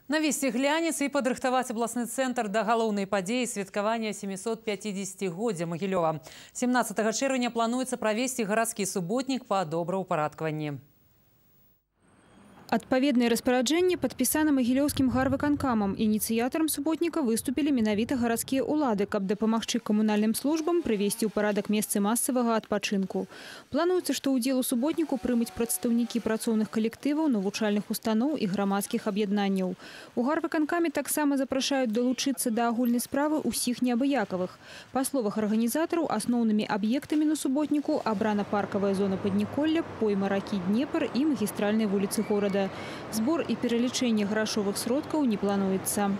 Навесці глянец і падрыхтаваць абласны цэнтр да галоўнай падзеі святкавання 750-годдзя Магілёва. 17 чэрвеня плануецца правесці гарадскі суботнік па добраўпарадкаванні. Адпаведнае распараджэнне падпісана магілёўскім гарвыканкамам. Ініцыятарам суботніка выступілі менавіта гарадскія ўлады, каб дапамагчы камунальным службам прывесці ў парадак месцы масавага адпачынку. Плануецца, што ўдзел у суботніку прымуць прадстаўнікі працоўных калектываў, навучальных устаноў і грамадскіх аб'яднанняў. У гарвыканкаме таксама запрашаюць далучыцца да агульнай справы ўсіх неабыякавых. Па словах арганізатараў, асноўнымі аб'ектамі на суботніку абрана паркавая зона Падніколля, пойма ракі Днепр і магістральныя вуліцы горада. Збор і пералічэнне грашовых сродкаў не плануецца.